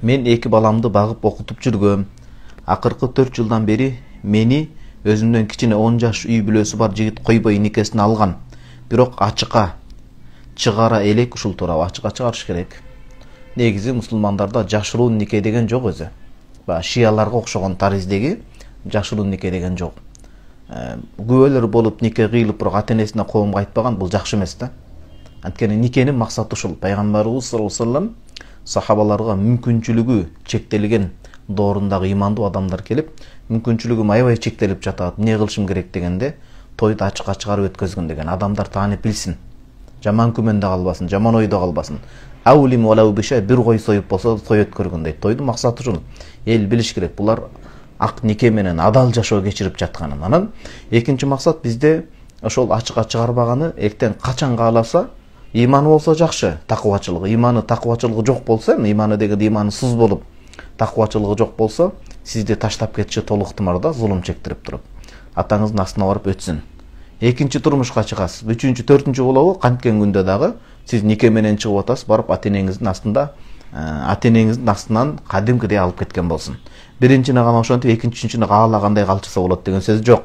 Мен эки баламды багып окутуп жүргөм. Акыркы 4 жылдан бери мени өзүмдөн кичине 10 жаш үй бүлөсү бар жигит койбой никесине алган. Бирок ачыкка чыгара элек, ушул тууралуу ачыкка чыгарыш керек. Негизи мусулмандарда жашыруун нике деген жок өзү. Баягы шияларга окшогон тариздеги жашыруун нике деген жок. Күбөлөр болуп нике кыйылып бирок ата-энесине коомго айтпаган, бул жакшы эмес да. Анткени никенин максаты ушул. Пайгамбарыбыз саллаллаху алейхи вассалам сахабаларга мүмкүнчүлүгү чектелген доорундагы имандуу адамдар келип, мүмкүнчүлүгүм аябай чектелип жатат, эмне кылышым керек дегенде, тойду ачыкка чыгарып өткөзгүн деген. Адамдар таанып билсин. Жаман күмөндө калбасын, жаман ойдо калбасын. Аулим валау биша, бир кой союп болсо той өткөргүн дейт. Тойдун максаты ушул. Эл билиш керек, булар ак нике менен адал жашоо кечирип жатканын. Анан экинчи максат бизде ошол ачыкка чыгарбаганы эртең качан кааласа, иманы болсо жакшы, такыбачылыгы. Иманы такыбачылыгы жок болсо, иманы деген иманы сыз болуп, такыбачылыгы жок болсо, сизди таштап кетиши толук ыктымал да, зулум чектирип туруп. Атаңыздын астына барып өтсүн. Экинчи турмушка чыгасыз, үчүнчү, төртүнчү болобу, канткен күндө дагы сиз нике менен чыгып атасыз, барып ата-энеңиздин астынан кадимкидей алып кеткен болсун. Биринчини гана ошентип, экинчи, үчүнчүнү каалагандай калчыса болот деген сөз жок.